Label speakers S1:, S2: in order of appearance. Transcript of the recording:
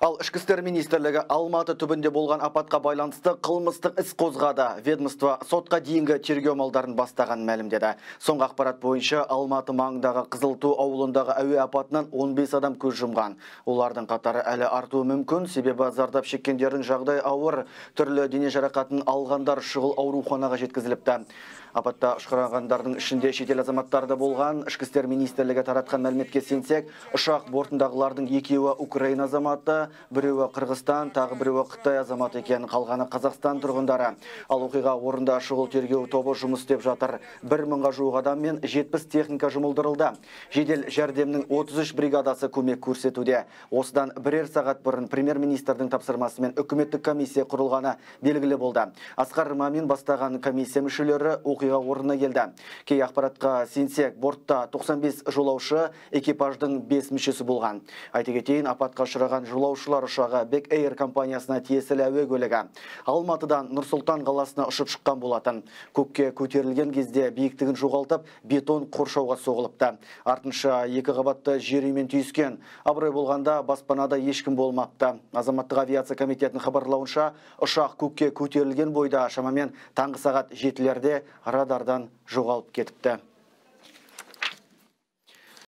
S1: Ал ішкі істер министрлігі Алматы түбінде болған апатқа байланысты қылмыстық іс қозғады. Ведомство сотқа дейінгі тергеу амалдарын бастаған мәлімдеді. Соңғы ақпарат бойынша Алматы маңындағы Қызылту ауылындағы әуе апатынан 15 адам көз жұмған. Олардың қатары әлі артуы мүмкін, себебі зардап шеккендердің жағдай ауыр, түрлі дене жарақатын алғандар шұғыл ауруханаға жеткізіліпті. Апатта ұшқырағандардың ішінде шетел азаматтары болған. Ішкі істер министрлігі таратқан мәліметке сенсек, ұшақ бортындағылардың екеуі Украина азаматы, біреуі Қырғызстан, тағы біреуі Қытай азаматы екен, қалғаны Қазақстан тұрғындары. Ал оқиға орында шұғыл тергеу тобы жұмыс істеп жатыр. 1000-ға жуық адам мен 70 техника жұмылдырылды. Жедел жәрдемнің 33 бригадасы көмек көрсетуде. Осыдан бірер сағат бұрын премьер-министрдің тапсырмасымен үкіметтік комиссия құрылғаны белгілі болды. Асқар Мамин бастаған комиссия мүшелері оқиға орнына келді. Кей ақпаратқа сенсек, бортта 95 жолаушы, экипаждың 5 мүшесі болған. Айта кетейін, апатқа ұшыраған жолаушылар ұшағы Бек Эйр компаниясына тиесілі әуе көлігі. Алматыдан Нұр-Сұлтан қаласына ұшып шыққан болатын. Көкке көтерілген кезде биіктігін жоғалтып, бетон қоршауға соғылыпты. Артынша 2 қабатты жер үймен түйіскен. Абырой болғанда баспанада ешкім болмапты. Азаматтық авиация комитетінің хабарлауынша, ұшақ көкке көтерілген бойда шамамен таңғы сағат 7-лерде радардан жоғалып кетіпті.